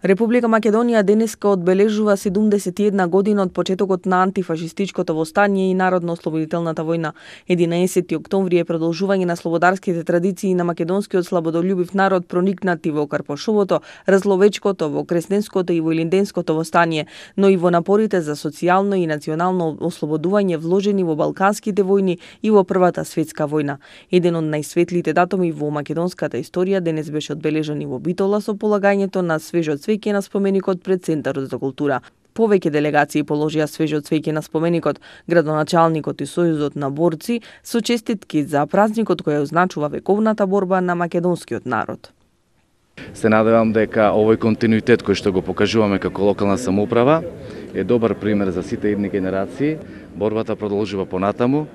Република Македонија денеска одбележува 71 година од почетокот на антифашистичкото востание и народно-ослободителната војна. 11 октомври е продолжување на слободарските традиции на македонскиот слободолюбив народ проникнати во Карпошовото, Разловечкото, во Кресненското и во Илинденското востание, но и во напорите за социјално и национално ослободување вложени во Балканските војни и во Првата светска војна. Еден од најсветлите датуми во македонската историја денес беше одбележан и во Битола со полагањето на свежо цвеќе на споменикот пред Центарот за култура. Повеќе делегации положија свежо цвеќе на споменикот, градоначалникот и Сојузот на борци со честитки за празникот кој означува вековната борба на македонскиот народ. Се надевам дека овој континуитет кој што го покажуваме како локална самоуправа е добар пример за сите идни генерации. Борбата продолжува понатаму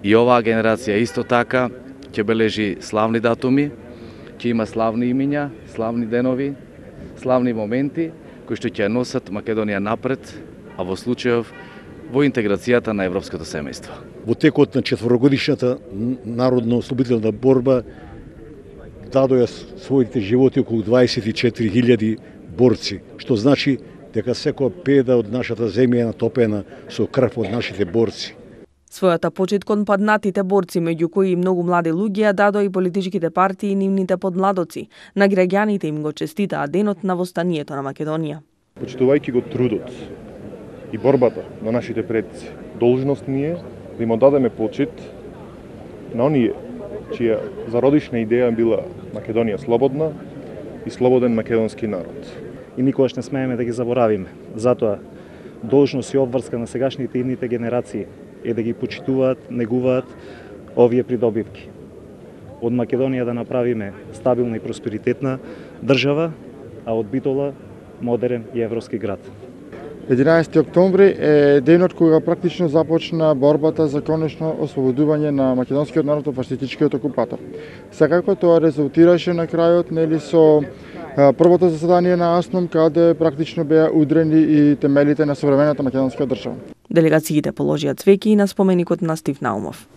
и оваа генерација исто така ќе бележи славни датуми, ќе има славни имиња, славни денови, славни моменти кои што ќе носат Македонија напред, а во случајов во интеграцијата на европското семејство. Во текот на четворогодишната народно-ослободителна борба дадоа своите животи околу 24.000 борци, што значи дека секоја педа од нашата земја е натопена со крв од нашите борци. Својата почит кон паднатите борци, меѓу кои и многу млади луѓе, дадоа и политичките партии и нивните подмладоци. На граѓаните им го честитаа денот на востанието на Македонија. Почитувајќи го трудот и борбата на нашите предци, должност ни е да им одадеме почит на оние чија зародишна идеја била Македонија слободна и слободен македонски народ. И никогаш не смееме да ги заборавиме. Затоа должност и обврска на сегашните идните генерации е да ги почитуваат, негуваат овие придобивки. Од Македонија да направиме стабилна и просперитетна држава, а од Битола модерен и европски град. 11 октомври е денот кога практично започна борбата за конечно ослободување на македонскиот народ од фашистичкиот окупатор. Секако тоа резултираше на крајот со првото заседание на АСНОМ, каде практично беа удрени и темелите на современата македонска држава. Делегациите положија цвеќе и на споменикот на Стив Наумов.